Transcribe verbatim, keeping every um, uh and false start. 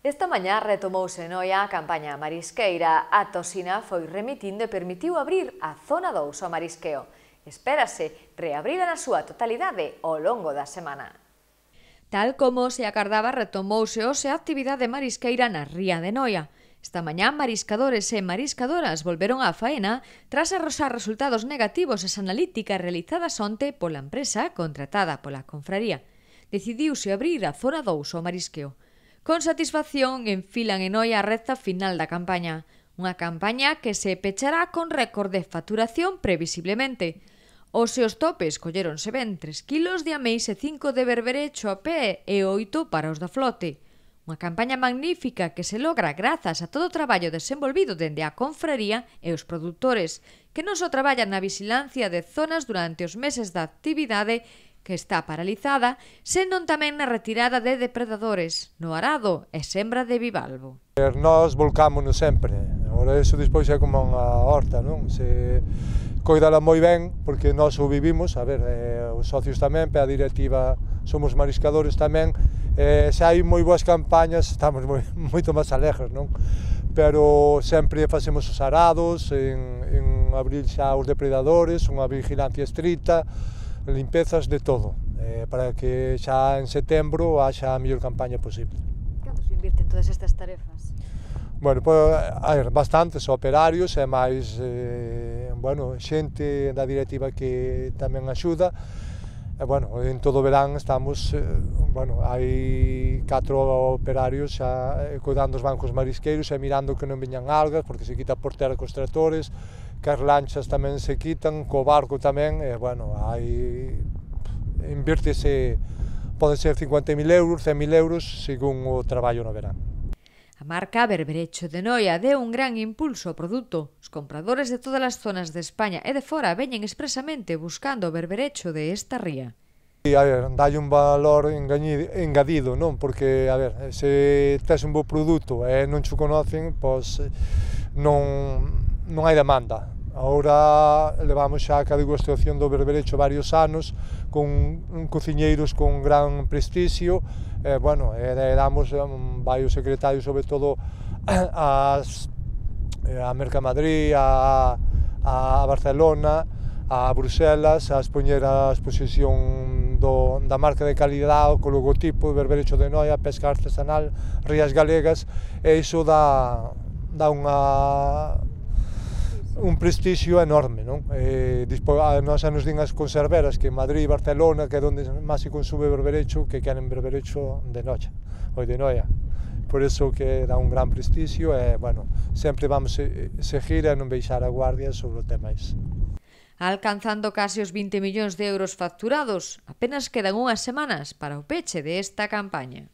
Esta mañá retomouse en Oia a campaña marisqueira. A Tosina foi remitindo e permitiu abrir a zona dous ao marisqueo. Espérase reabrir na súa totalidade ao longo da semana. Tal como se acardaba, retomouse hoxe a actividade marisqueira na ría de Noia. Esta mañá, mariscadores e mariscadoras volveron á faena tras arrosar resultados negativos as analíticas realizadas onte pola empresa contratada pola confraría. Decidiuse abrir a zona dous ao marisqueo. Con satisfacción enfilan en Noia a recta final da campaña. Unha campaña que se pechará con récord de facturación previsiblemente. Os seus topes colléronse ben tres kilos de ameis e cinco de berberecho a pé e oito para os da flote. Unha campaña magnífica que se logra grazas a todo o traballo desenvolvido dende a confraría e os produtores, que non só traballan na vigilancia de zonas durante os meses da actividade que está paralizada, senón tamén na retirada de depredadores, no arado e sembra de bivalvo. Nós volcámonos sempre, agora iso despois é como unha horta, non? Se coidala moi ben, porque nós o vivimos, a ver, eh, os socios tamén, pe a directiva somos mariscadores tamén, eh, se hai moi boas campañas estamos moi, moito máis alegres, non? Pero sempre facemos os arados, en, en abril xa os depredadores, unha vigilancia estricta, limpezas de todo, eh, para que xa en setembro haxa a mellor campaña posible. Canto se invirten todas estas tarefas? Bueno, pues, hai bastantes operarios e máis, eh, bueno, xente da directiva que tamén axuda. E, bueno, en todo o verán estamos, eh, bueno, hai catro operarios xa eh, cuidando os bancos marisqueiros e mirando que non veñan algas, porque se quita por terra cos tractores, que as lanchas tamén se quitan, co barco tamén, e, bueno, hai, invírtese, poden ser cincuenta mil euros, cen mil euros, según o traballo no verán. A marca Berberecho de Noia deu un gran impulso ao produto. Os compradores de todas as zonas de España e de fora veñen expresamente buscando o berberecho de esta ría. E, a ver, dalle un valor engadido, non? Porque, a ver, se tes un bo produto e non cho conocen, pois non, non hai demanda. Agora levamos xa a degustación do berberecho varios anos, con cociñeiros con gran prestixio, e, bueno, e damos um, vai o secretario sobre todo as, a Mercamadrid, a, a Barcelona, a Bruselas, a expoñer a exposición do, da marca de calidade, co logotipo Berberecho de Noia, pesca artesanal, rías galegas, e iso dá, dá unha un prestixio enorme, non? E, dispo, a, nós a nos din as conserveras que en Madrid e Barcelona, que é onde máis se consume berberecho, que queren berberecho de Noia, ou de Noia. Por iso que dá un gran prestixio e, bueno, sempre vamos seguir e non baixar a guardia sobre o tema iso. Alcanzando case os vinte millóns de euros facturados, apenas quedan unhas semanas para o peche de esta campaña.